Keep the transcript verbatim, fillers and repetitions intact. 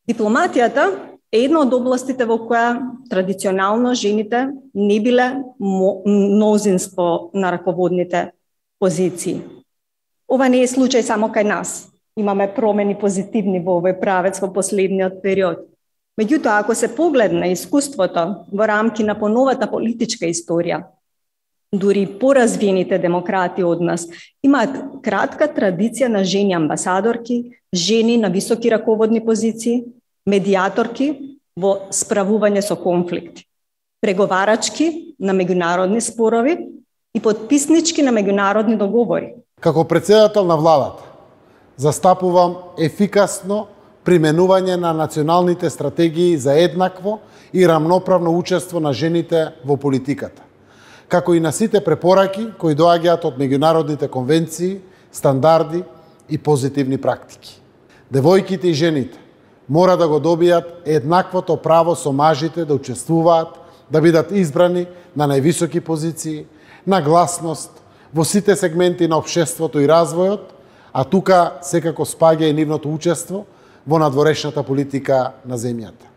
Дипломатијата е една од областите во која традиционално жените не биле мнозинство на раководните позиции. Ова не е случај само кај нас. Имаме промени позитивни во овој правец во последниот период. Меѓутоа, ако се погледне искуството во рамки на поновата политичка историја, дури поразвиените демократи од нас имаат кратка традиција на жени амбасадорки, жени на високи раководни позиции, медиаторки во справување со конфликти, преговарачки на меѓународни спорови и потписнички на меѓународни договори. Како председател на владата, застапувам ефикасно применување на националните стратегии за еднакво и рамноправно учество на жените во политиката, како и на сите препораки кои доаѓаат од меѓународните конвенции, стандарди и позитивни практики. Девојките и жените мора да го добијат еднаквото право со мажите да учествуваат, да бидат избрани на највисоки позиции, на гласност во сите сегменти на општеството и развојот, а тука секако спаѓа и нивното учество во надворешната политика на земјата.